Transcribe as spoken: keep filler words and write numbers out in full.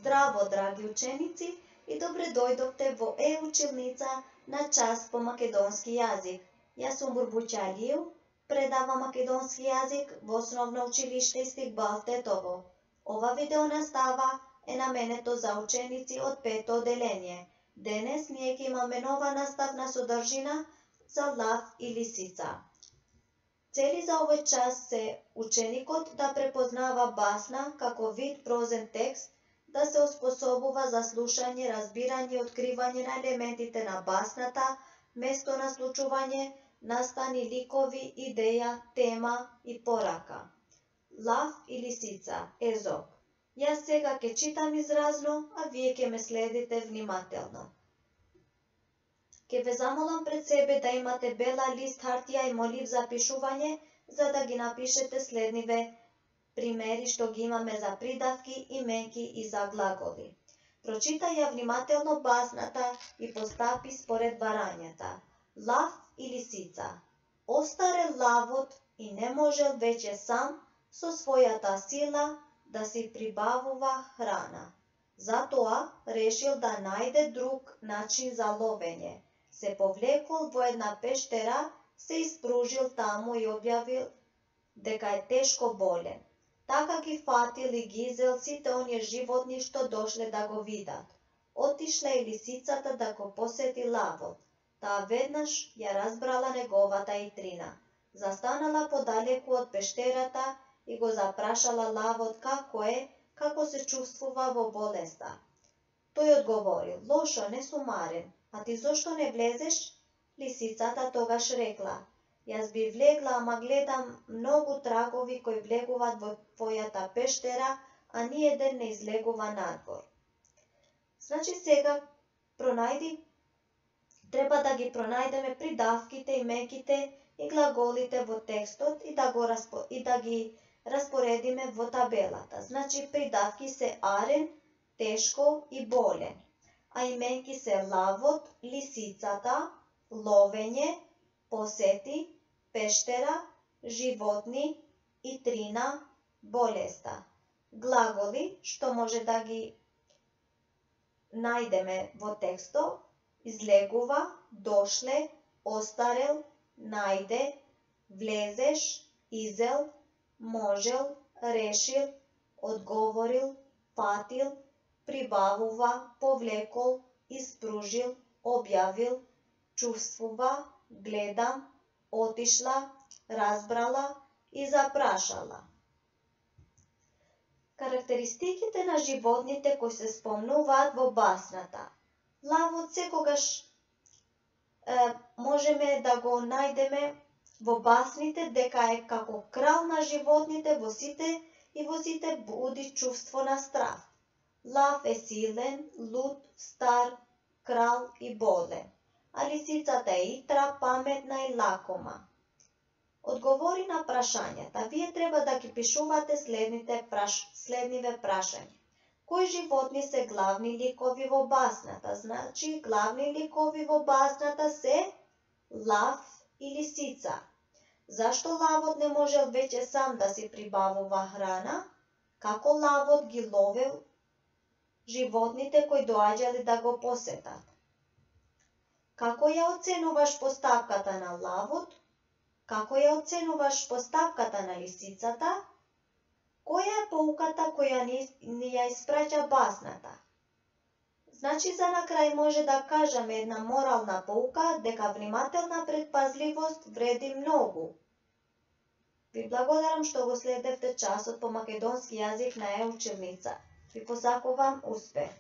Здраво, драги ученици, и добре дојдовте во е-училница на час по македонски јазик. Јас сум Бурбуќа Алиев, предавам македонски јазик во Основно училиште Истикбал Тетово. Ова видео настава е наменето за ученици од пето оделение. Денес ние ќе имаме нова наставна содржина за лав и лисица. Цели за овој час се ученикот да препознава басна како вид прозен текст, да се оспособува за слушање, разбирање и откривање на елементите на басната, место на случување, настани ликови, идеја, тема и порака. Лав и лисица, Езоп. Јас сега ќе читам изразно, а вие ќе ме следите внимателно. Ќе ве замолам пред себе да имате бела лист хартија и молив за пишување, за да ги напишете следниве примери што ги имаме за придавки, именки и за глаголи. Прочитај ја внимателно басната и постапи според барањата. Лав и лисица. Остарел лавот и не можел веќе сам со својата сила да си прибавува храна. Затоа решил да најде друг начин за ловење. Се повлекол во една пештера, се испружил таму и објавил дека е тешко болен. Така ги фатил и ги изел сите оние животни што дошле да го видат. Отишла и лисицата да го посети лавот. Таа веднаш ја разбрала неговата итрина. Застанала подалеку од пештерата и го запрашала лавот како е, како се чувствува во болеста. Тој одговорил: лошо, не сум марен. А ти зошто не влезеш? Лисицата тогаш рекла: јас би влегла, ама гледам многу трагови кои влегуваат во твојата пештера, а ни еден не излегува надвор. Значи сега пронајди, треба да ги пронајдеме придавките, именките и глаголите во текстот и да, го распо, и да ги распоредиме во табелата. Значи придавки се арен, тешко и болен, а именки се лавот, лисицата, ловење, посети, пештера, животни, итрина, болеста. Глаголи што може да ги најдеме во текстот: излегува, дошле, остарел, најде, влезеш, изел, можел, решил, одговорил, фатил, прибавува, повлекол, испружил, објавил, чувствува, гледам, отишла, разбрала и запрашала. Карактеристиките на животните кои се спомнуваат во басната. Лавот секогаш е, можеме да го најдеме во басните дека е како крал на животните во сите и во сите буди чувство на страв. Лав е силен, луд, стар, крал и болен, а лисицата е итра, паметна и лакома. Одговори на прашањата. Вие треба да ги пишувате следните праш... следниве прашања. Кои животни се главни ликови во басната? Значи, главни ликови во басната се лав и лисица. Зашто лавот не можел веќе сам да си прибавува храна? Како лавот ги ловел животните кои доаѓале да го посетат? Како ја оценуваш постапката на лавот? Како ја оценуваш постапката на лисицата? Која е поуката која ни, ни ја испраќа басната? Значи, за на крај може да кажеме една морална поука дека внимателна предпазливост вреди многу. Ви благодарам што го следевте часот по македонски јазик на е-училница. Ви посакувам успех!